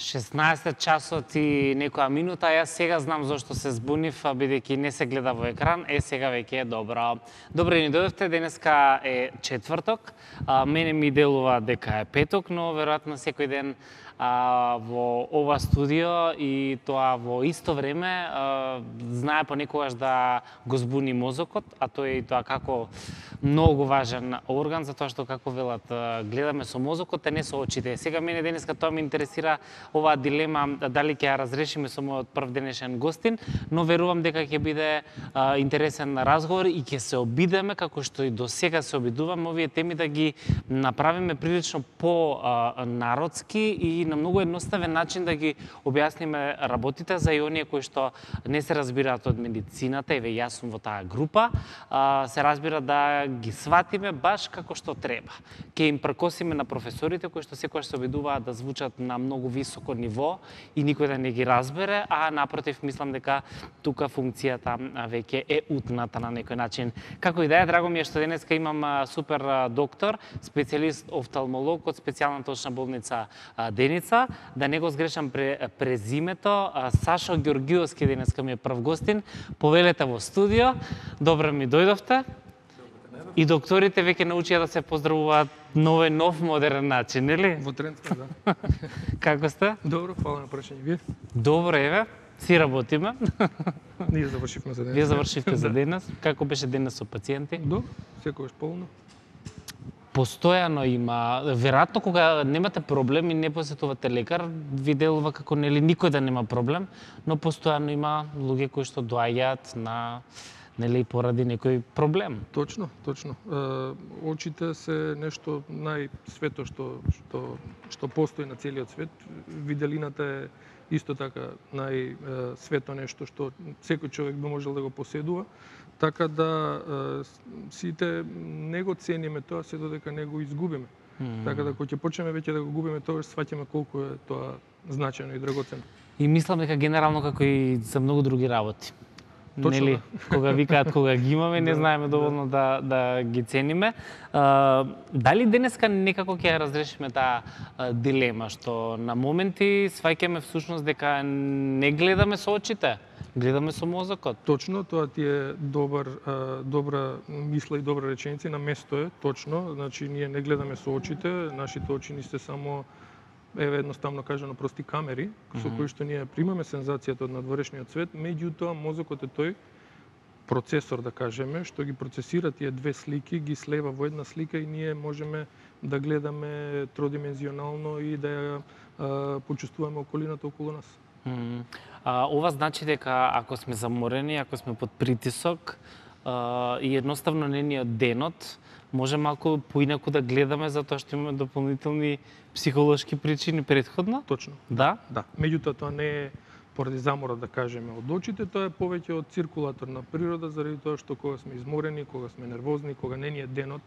16 часот и некоја минута, јас сега знам зошто се збунив, бидејќи не се гледа во екран, сега веќе е добро. Добро ни дојдовте, денеска е четврток, мене ми делува дека е петок, но веројатно секој ден во ова студио и тоа во исто време знае понекогаш да го збуни мозокот, а тоа е и тоа како многу важен орган, затоа што како велат гледаме со мозокот, а не со очите. Сега мене денеска тоа ме интересира оваа дилема дали ќе ја разрешиме со мојот прв денешен гостин, но верувам дека ќе биде интересен разговор и ќе се обидеме како што и до сега се обидуваме овие теми да ги направиме прилично по-народски и на многу едноставен начин да ги објасниме работите за и оние кои што не се разбираат од медицината, еве јас сум во таа група, се разбира да ги сватиме баш како што треба. Ќе им прекосиме на професорите кои што секогаш се обидуваат да звучат на многу високо ниво и никој да не ги разбере, а напротив мислам дека тука функцијата веќе е утната на некој начин. Како и да е, драго ми е што денеска имам супер доктор, специјалист офталмолог од специјалната очна болница Деница. Да не го сгрешам презимето, Сашо Ѓорѓиовски денеска ми е прв гостин. Повелете во студио. Добро ми дојдовте. И докторите веќе научија да се поздравуваат на овој нов модерен начин, нели? Во тренд сме, да. Како сте? Добро, фала на прашање. Вие? Добро, еве. Си работиме. Ние завршивме за денес. Вие завршивте за денес. Како беше денес со пациенти? Добро, секогаш полно. Постојано има, веројатно кога немате проблем и не посетувате лекар, ви делува како нели никој да нема проблем, но постојано има луѓе кои што доаѓаат на нели поради некој проблем. Точно, точно. Очите се нешто најсвето што постои на целиот свет. Виделината е исто така најсвето нешто што секој човек би можел да го поседува. Така да сите не го цениме тоа се додека не го изгубиме. Така да кога ќе почнеме веќе да го губиме тоа, сваќаме колку е тоа значајно и драгоцено. И мислам дека генерално како и за многу други работи. Точно, нели, кога викаат кога ги имаме, не знаеме доволно да ги цениме. Дали денеска некако ќе ја разрешиме таа дилема што на моменти сваќаме всушност дека не гледаме со очите, гледаме со мозокот? Точно, тоа ти е добра мисла и добра реченица, на место е, точно. Значи, ние не гледаме со очите, нашите очи ни се само едноставно кажано прости камери, со кои што ние примаме сензацијата од надворешниот свет, меѓутоа мозокот е тој процесор, да кажеме, што ги процесира тие две слики, ги слева во една слика и ние можеме да гледаме тродимензионално и да ја почувствуваме околината околу нас. Ова значи дека ако сме заморени, ако сме под притисок и едноставно не ни е денот, може малку поинаку да гледаме затоа што имаме дополнителни психолошки причини претходно? Точно. Да? Да. Меѓутоа тоа не е поради замора, да кажеме, од очите, тоа е повеќе од циркулаторна природа, заради тоа што кога сме изморени, кога сме нервозни, кога не ни е денот,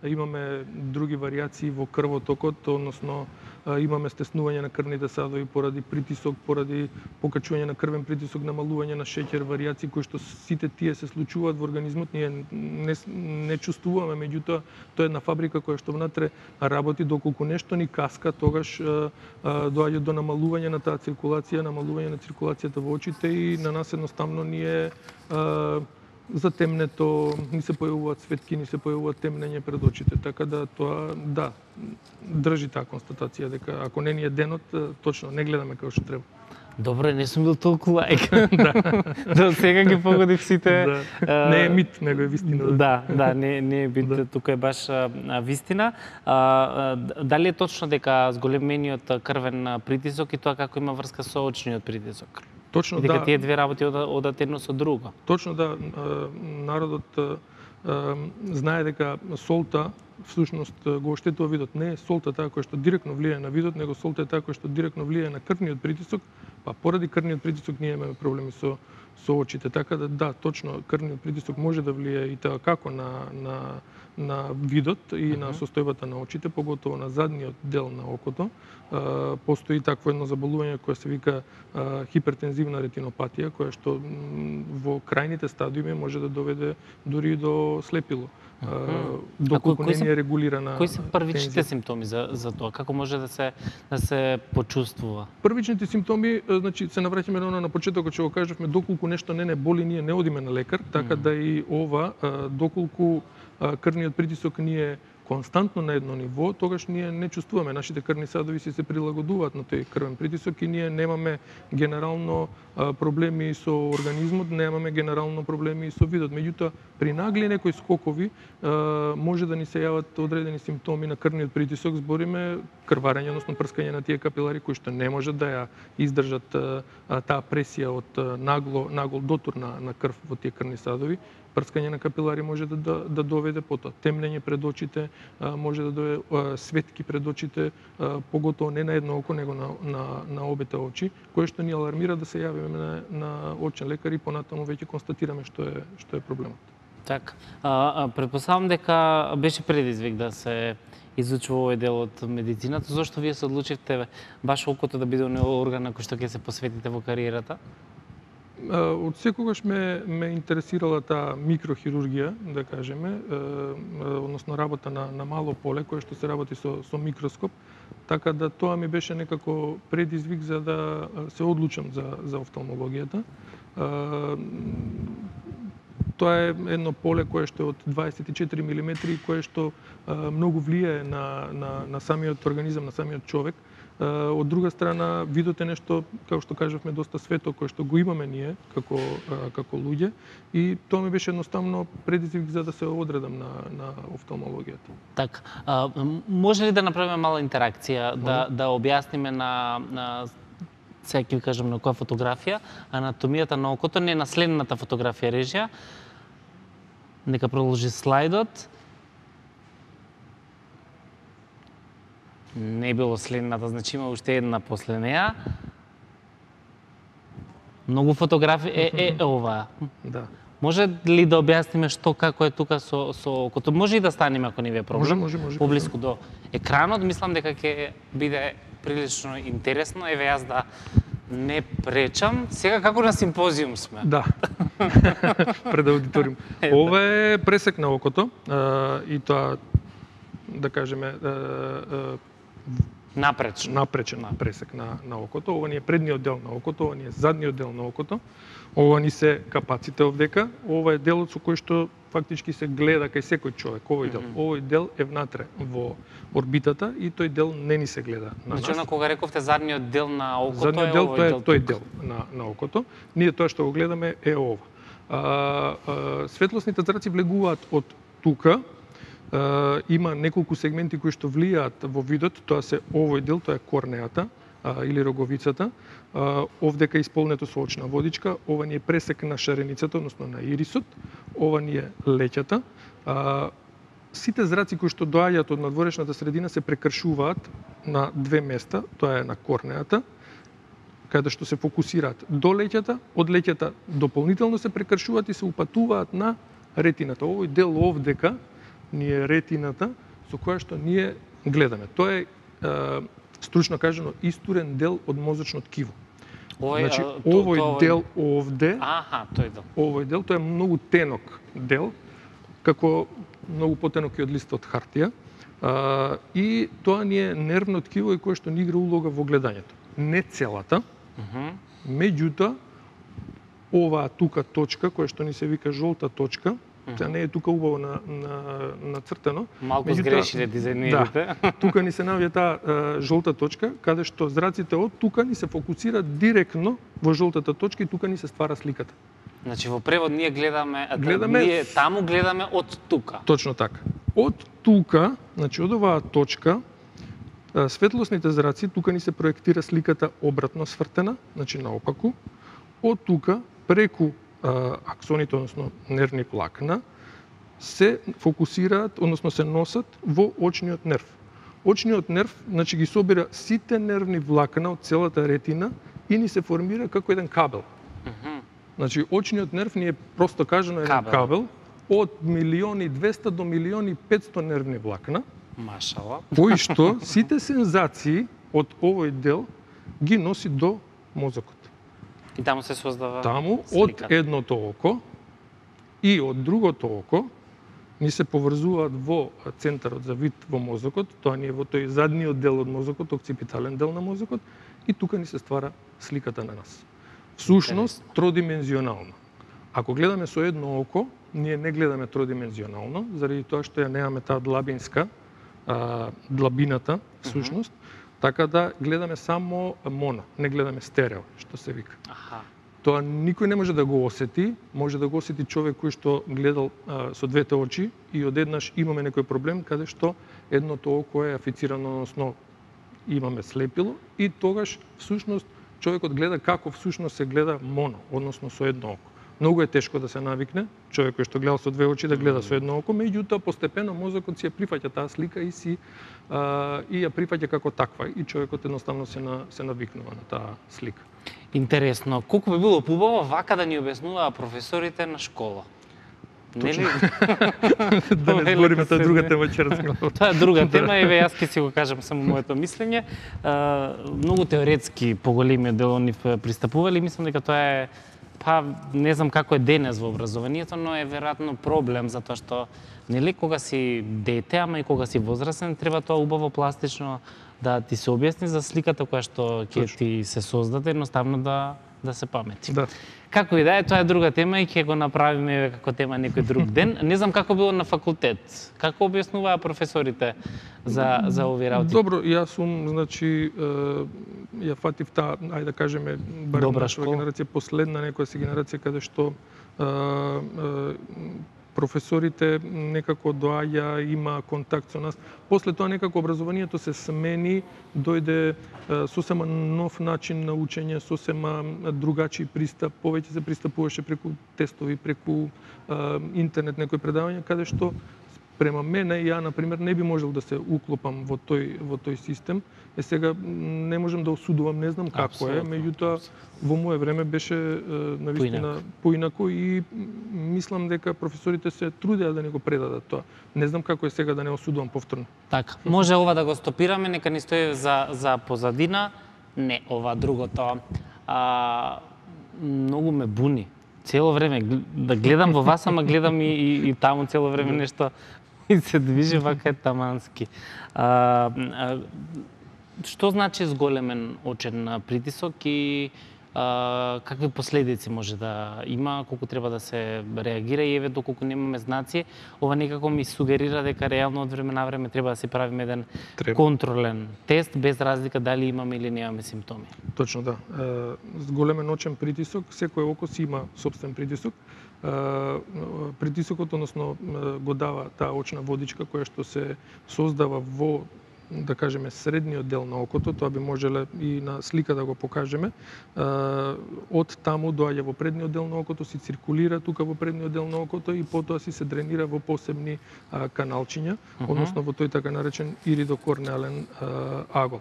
имаме други варијации во крвотокот, односно имаме стеснување на крвните садови поради притисок, поради покачување на крвен притисок, намалување на шеќер, варијации кои што сите тие се случуваат во организмот, ние не чувствуваме, меѓутоа тоа е една фабрика која што внатре работи, доколку нешто ни каска, тогаш доаѓа до намалување на таа циркулација, намалување на циркулацијата во очите и на нас едноставно ни е затемнето, ни се појавуваат светки, ни се појавуваат темнење пред очите, така да тоа, да, држи таа констатација дека ако не ни е денот, точно не гледаме како што треба. Добро, не сум бил толку лаик. Да, сега ги погодив сите. Не е мит, него е вистина. Да, не е мит, тука е баш вистина. Дали е точно дека зголемениот крвен притисок и тоа како има врска со очниот притисок? Точно, и дека тие две работи одат едно со друго. Точно, да. Народот знае дека солта всушност го оштетува видот. Не е солта таа која што директно влијае на видот, него солта е таа која што директно влијае на крвниот притисок, па поради крвниот притисок ние имаме проблеми со очите. Така да, точно, крвниот притисок може да влијае и тоа како на видот и на состојбата на очите, поготово на задниот дел на окото. Постои такво едно заболување кое се вика хипертензивна ретинопатија, која што во крајните стадиуми може да доведе дури до слепило. доколку не е регулирана. Кои се првичните симптоми за тоа? Како може да се почувствува? Првичните симптоми, значи се навраќаме на почетокот што го кажавме, доколку нешто не боли, ние не одиме на лекар, така да и ова, доколку крвниот притисок ни е константно на едно ниво, тогаш ние не чувствуваме, нашите крвни садови се прилагодуваат на тој крвен притисок и ние немаме генерално проблеми со организмот, немаме генерално проблеми со видот. Меѓутоа, при нагли некои скокови може да ни се јават одредени симптоми на крвниот притисок, збориме крварење, односно прскање на тие капилари кои што не може да ја издржат таа пресија од нагол дотур на крв во тие крвни садови. Прскање на капилари може да доведе потоа темнење пред очите, може да доведе светки пред очите, поготово не на едно око, него на обете очи, кое што ни алармира да се јавиме на очен лекар и понатаму веќе констатираме што е проблемот. Така, претпоставам дека беше предизвик да се изучува овој дел од медицината. Зошто вие се одлучивте баш окото да биде орган на кој што ќе се посветите во кариерата? Од секогаш ме интересирала таа микрохирургија, да кажеме, односно работа на мало поле, кое што се работи со микроскоп, така да тоа ми беше некако предизвик за да се одлучам за офталмологијата. Тоа е едно поле кое што е од 24 мм и кое што многу влијае на самиот организам, на самиот човек. Од друга страна, видот е нешто, како што кажавме, доста свето, кое што го имаме ние како луѓе, и тоа ми беше едноставно предизвик за да се одредам на офталмологијата. Така, може ли да направиме мала интеракција, да објасниме на сега ќе ви кажам на која фотографија, анатомијата на окото, не на следната фотографија режија. Нека продолжи слайдот. Не било следната, значи има уште една после неа. Многу фотографии ова. Да. Може ли да објасниме што како е тука со окото? Може и да станеме ако не ви е проблем. Може. Поблиску до екранот, мислам дека ќе биде прилично интересно. Еве јас да не пречам. Сега како на симпозиум сме. Да. Пред аудиториум. Ова е пресек на окото и тоа, да кажеме, напречен пресек на окото. Ова ни е предниот дел на окото, ова ни е задниот дел на окото. Ова ни се капаците овдека. Ова е делот со кој што фактички се гледа кај секој човек. Овој дел е внатре во орбитата и тој дел не ни се гледа на нас. Значи, кога рековте задниот дел на окото, задниот дел, тоа е тој дел на окото. Ние тоа што го гледаме е ова. Светлосните зраци влегуваат од тука. Има неколку сегменти кои што влијаат во видот, тоа се овој дел, тоа е корнеата или роговицата. Овдека е исполнето со очна водичка, ова ни е пресек на шареницата, односно на ирисот, ова ни е леќата. Сите зраци кои што доаѓаат од надворешната средина се прекршуваат на две места, тоа е на корнеата, каде што се фокусираат до леќата, од леќата дополнително се прекршуваат и се упатуваат на ретината. Овој дел овдека ни е ретината со која што ние гледаме. Тоа е стручно кажано истурен дел од мозочно ткиво. Значи овој дел овде, овој дел тоа е многу тенок дел, како многу потенок и од листот хартија, и тоа ни е нервно ткиво и кое што ни игра улога во гледањето. Не целата, меѓутоа оваа тука точка која што ни се вика жолта точка, Сега не е тука убаво нацртено. Малку сгрешиле дизајнерите. Да, тука ни се наоѓа таа жолта точка, каде што зраците од тука ни се фокусираат директно во жолтата точка и тука ни се ствара сликата. Значи во превод ние гледаме ние таму гледаме од тука. Точно така. Од тука, значи од оваа точка, светлосните зраци, тука ни се проектира сликата обратно свртена, значи наопаку. Од тука, преку аксоните, односно нервни влакна, се фокусираат, односно се носат во очниот нерв. Очниот нерв, значи ги собира сите нервни влакна од целата ретина и ни се формира како еден кабел. Значи очниот нерв ни е просто кажано еден кабел од 1.200.000 до 1.500.000 нервни влакна. Машала. Кои што сите сензации од овој дел ги носи до мозокот. И таму се создава таму сликата. Од едното око и од другото око ни се поврзуваат во центарот за вид во мозокот, тоа ни е во тој задниот дел од мозокот, окципитален дел на мозокот, и тука ни се ствара сликата на нас. Всушност, тродимензионално. Ако гледаме со едно око, ние не гледаме тродимензионално, заради тоа што ја немаме таа длабинска, длабината, всушност, така да гледаме само моно, не гледаме стерео, што се вика. Тоа никој не може да го осети, може да го осети човек кој што гледал со двете очи и одеднаш имаме некој проблем каде што едното око е афицирано, односно имаме слепило и тогаш всушност човекот гледа како всушност се гледа моно, односно со едно око. Многу е тешко да се навикне човек кој што гледа со две очи да гледа со едно око, меѓутоа постепено мозокот си ја прифаќа таа слика и ја прифаќа како таква и човекот едноставно се навикнува на таа слика. Интересно, колку би било поубаво вака да ни објаснуваа професорите на школа. Нели? Да не збориме, тоа е друга тема ќе разгледаме. Тоа е друга тема, еве јас ќе си го кажам само моето мислење. Многу теоретски поголемиот дел они пристапували, мислам дека тоа е не знам како е денес во образованието, но е веројатно проблем затоа што нели кога си дете, ама и кога си возрастен, треба тоа убаво пластично да ти се објасни за сликата која што ќе ти се создаде, едноставно да се памети. Да. Како и да е, тоа е друга тема и ќе го направиме како тема некој друг ден. Не знам како било на факултет. Како објаснуваа професорите за овие работи? Добро, јас сум, значи, ја фатив таа, ајде да кажеме, барем нашава генерација, последна некоја си генерација каде што професорите некако доаѓа, има контакт со нас. После тоа некако образованието се смени, дојде сосема нов начин на учење, сосема другачи пристап, повеќе се пристапуваше преку тестови, преку интернет некои предавања, каде што према мене, ја, например, не би можел да се уклопам во тој систем. Сега не можам да осудувам, не знам како е, меѓутоа во мое време беше навистина поинако и мислам дека професорите се трудеа да ни го предадат тоа. Не знам како е сега да не осудувам повторно. Така, може ова да го стопираме, нека ни стои за позадина. Не, ова другото. Многу ме буни. Цело време да гледам во вас, ама гледам и таму цело време нешто и се движи вака е тамански. Што значи зголемен очен притисок и какви последици може да има, колку треба да се реагира и еве доколку немаме знаци, ова некако ми сугерира дека реално од време на време треба да си правиме еден контролен тест без разлика дали имаме или немаме симптоми. Точно да. Зголемен очен притисок, секој око си има сопствен притисок. Притисокот, односно, го дава таа очна водичка која што се создава во, да кажеме, средниот дел на окото, тоа би можеле и на слика да го покажеме. Од таму доаѓа во предниот дел на окото, си циркулира тука во предниот дел на окото и потоа си се дренира во посебни каналчиња, односно во тој така наречен иридокорнеален агол.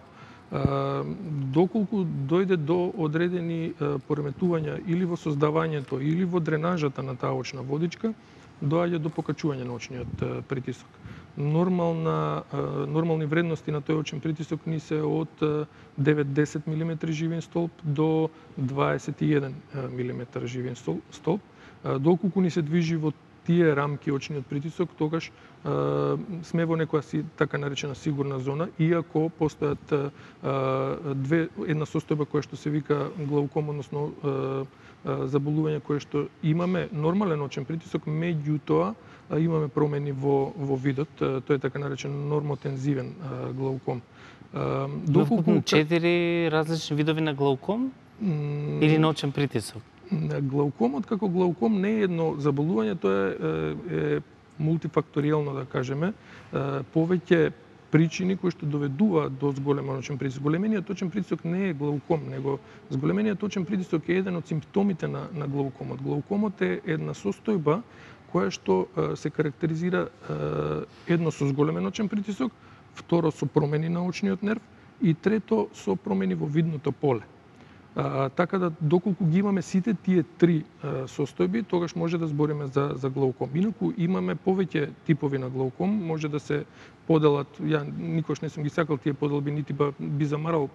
Доколку дојде до одредени пореметувања или во создавањето или во дренажата на таа очна водичка, доаѓа до покачување на очниот притисок. Нормални вредности на тој очен притисок ни се од 9-10 мм живин столб до 21 мм живин столб. Доколку ни се движи во тие рамки очниот притисок, тогаш сме во некоја така наречена сигурна зона, иако постојат една состојба која што се вика глауком, односно заболување кое што имаме нормален очен притисок, меѓутоа имаме промени во видот, тој е така наречен нормотензивен глауком. Доколку 4 различни видови на глауком или на очен притисок? Глаукомот како глауком не е едно заболување, тоа е мултифакторијално, да кажеме, повеќе причини кои што доведуваат до зголемен очен притисок. Зголемениот очен притисок не е глауком, него зголемениот очен притисок е еден од симптомите на глаукомот. Глаукомот е една состојба која што се карактеризира едно со зголемен очен притисок, второ со промени на очниот нерв и трето со промени во видното поле. Така да, доколку ги имаме сите тие три состојби, тогаш може да збориме за глауком. Инаку имаме повеќе типови на глауком, може да се поделат, ја никош не сум ги сакал тие поделби, нити би замарал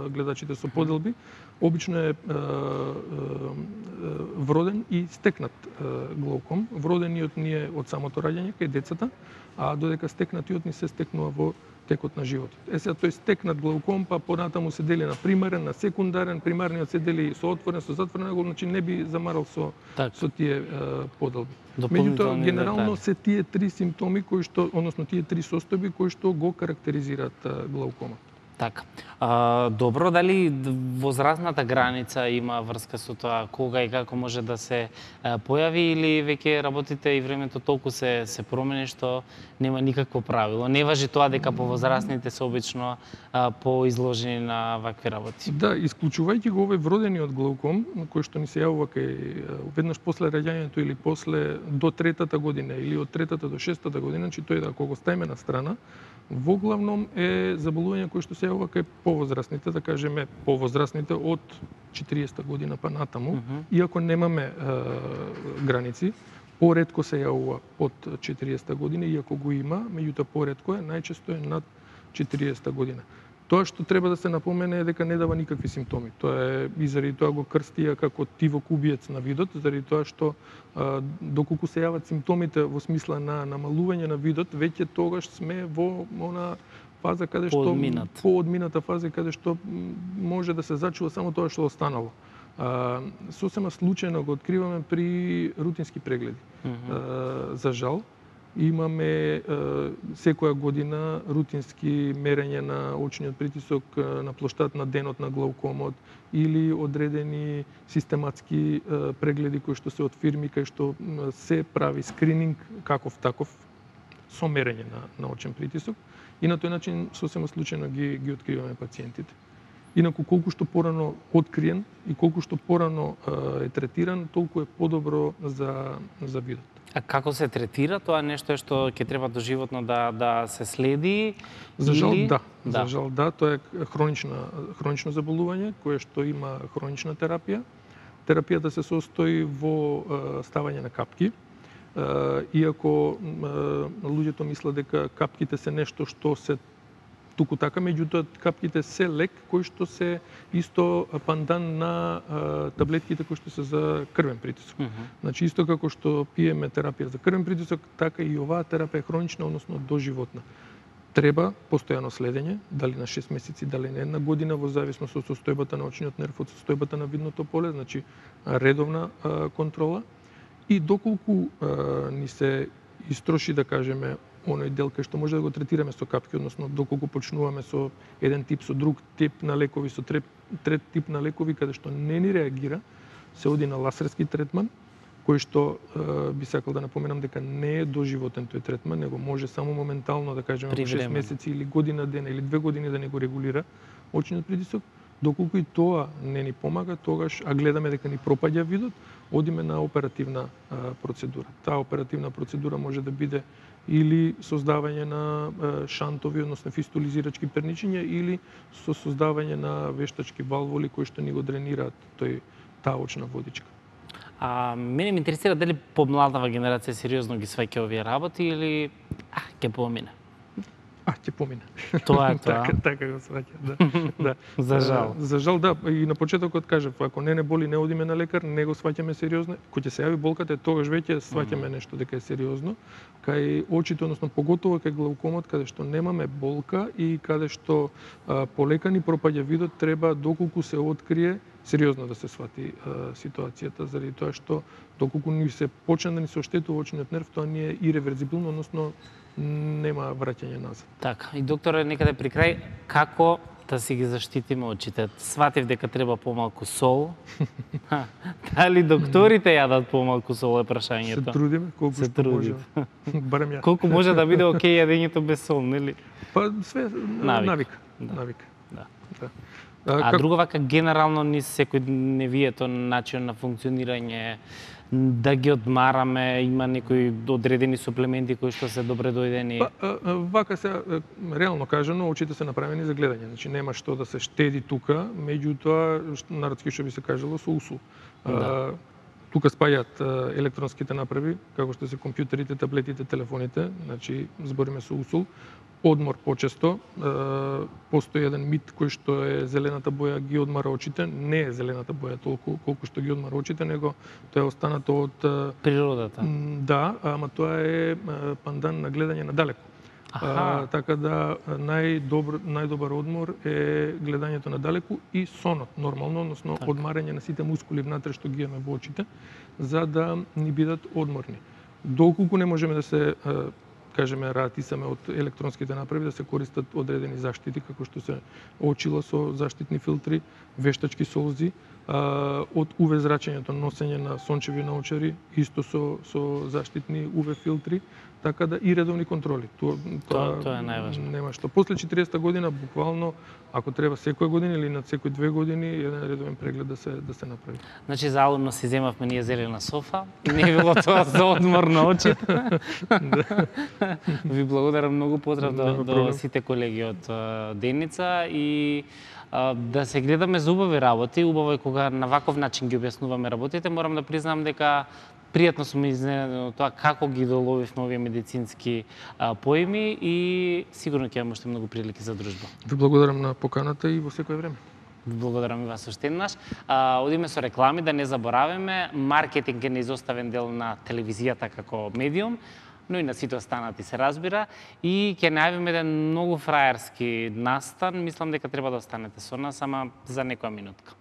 гледачите со поделби. Обично е вроден и стекнат глауком. Вродениот ни е од самото раѓање кај децата, а додека стекнатиот ни се стекнува во текот на животот. Сега тој стекнат глауком, па понатаму се дели на примарен, на секундарен, примарниот се дели со отворен, со затворен, значи не би замарал со тие поделби. Меѓутоа, генерално се тие три симптоми кои што, односно тие три состојби кои што го карактеризираат глаукомот. Така. Добро, дали возрастната граница има врска со тоа кога и како може да се појави, или веќе работите и времето толку се промени што нема никакво правило? Не важи тоа дека повозрастните се обично поизложени на вакви работи? Да, исклучувајќи го овој вродениот глауком, кој што ни се јавува кај веднаш после раѓањето или после до третата година или од третата до шестата година, значи тој да кога ставиме на страна, во главном е заболување кој што се јавува кај повозрастните, да кажеме повозрастните од 40 година па натаму, иако немаме граници, поретко се јавува под 40 година, иако го има, меѓутоа поретко е, најчесто е над 40 година. Тоа што треба да се напомене е дека не дава никакви симптоми. Тоа е и заради тоа го крстија како тивокубиец на видот, заради тоа што доколку се јават симптомите во смисла на намалување на видот, веќе тогаш сме во она фаза каде што поодмината фаза каде што може да се зачува само тоа што останало. Сосема случајно го откриваме при рутински прегледи. За жал, имаме секоја година рутински мерење на очниот притисок на плоштад на денот на глаукомот или одредени систематски прегледи кои што се од фирми кај што се прави скрининг каков таков со мерење на очен притисок и на тој начин сосема случајно ги откриваме пациентите. Инаку колку што порано откриен и колку што порано е третиран, толку е подобро за видот. А како се третира? Тоа нешто е што ќе треба доживотно да се следи? За жал да. За жал да, тоа е хронично заболување кое што има хронична терапија. Терапијата се состои во ставање на капки. Иако луѓето мислат дека капките се нешто што се туку така, меѓутоа капките се лек кој што се исто пандан на таблетките кои што се за крвен притисок. Значи исто како што пиеме терапија за крвен притисок, така и оваа терапија е хронична, односно доживотна. Треба постојано следење, дали на 6 месеци, дали на една година, во зависност од состојбата на очниот нерв, од состојбата на видното поле, значи редовна контрола. И доколку ни се истроши, да кажеме, оној дел кај што може да го третираме со капки, односно доколку почнуваме со еден тип, со друг тип на лекови, со трет тип на лекови, каде што не ни реагира, се оди на ласерски третман, кој што би сакал да напоменам дека не е доживотен тој третман, него може само моментално, да кажеме, во 6 месеци или година дена или 2 години да не го регулира очниот притисок. Доколку и тоа не ни помага, тогаш, а гледаме дека ни пропаѓа видот, одиме на оперативна процедура. Таа оперативна процедура може да биде или создавање на шантови, односно фистулизирачки перничиња, или со создавање на вештачки валвули кои што ни го дренираат таа очна водичка. Мене ме интересира дали помладава генерација сериозно ги сваќа овие работи или ќе помине? Ќе помине. Тоа е тоа. Така го сваќа, да. За жал. За жал, да. И на почетокот кажав, ако не боли, не одиме на лекар, не го сваќаме сериозно. Кога ќе се јави болката, тогаш веќе сваќаме нешто дека е сериозно. Кај очите, односно поготово кај глаукомот, каде што немаме болка и каде што полека ни пропаѓа видот, треба доколку се открие сериозно да се свати ситуацијата, заради тоа што доколку ни се почне да ни се оштетува очниот нерв, тоа не е иреверзибилно, односно нема враќање назад. Така, и докторе, некаде при крај, како да си ги заштитиме очите? Сватив дека треба помалку сол. Дали докторите јадат помалку сол е прашањето? Се трудиме колку што може. Барем ја. Колку може да биде окей јадењето без сол, нели? Па све навика. Да. А друго вака генерално низ секој невието начин на функционирање да ги одмараме, има некои одредени суплементи кои што се добре дојдени? Вака се реално кажано, очите се направени за гледање. Значи нема што да се штеди тука, меѓутоа народски што би се кажало со усул. Да. Тука спаѓаат електронските направи, како што се компјутерите, таблетите, телефоните, значи збориме со усул. Одмор почесто, постои еден мит кој што е зелената боја ги одмара очите, не е зелената боја толку колку што ги одмара очите, него тоа е останато од Природата. Да, ама тоа е пандан на гледање надалеку. Така да најдобар одмор е гледањето надалеку и сонот нормално, односно одмарање на сите мускули внатре што ги имаме во очите, за да ни бидат одморни. Доколку не можеме да се кажеме ратисаме од електронските направи, да се користат одредени заштити како што се очила со заштитни филтри, вештачки солзи, од УВ зрачењето, носење на сончеви наочари, исто со заштитни УВ филтри, така да и редовни контроли. Тоа е најважно. Нема што. После 40-та година, буквално, ако треба секоја година или над секој 2 години, еден редовен преглед да се направи. Значи, заумно си земавме ние зелена софа, не било тоа за одмор на очите. Ви благодарам многу, поздрав до сите колеги од Деница и да се гледаме за убави работи. Убаво е кога на ваков начин ги објаснуваме работите. Морам да признам дека пријатно сум изненаден од тоа како ги доловивме овие медицински поими и сигурно ќе имаме уште многу прилики за дружба. Ви благодарам на поканата и во секое време. Благодарам и вас уште еднаш. Одиме со реклами, да не забораваме. Маркетинг е неизоставен дел на телевизијата како медиум, но и на сите останати се разбира. И ќе најавиме еден многу фраерски настан. Мислам дека треба да останете со нас, ама за некоја минутка.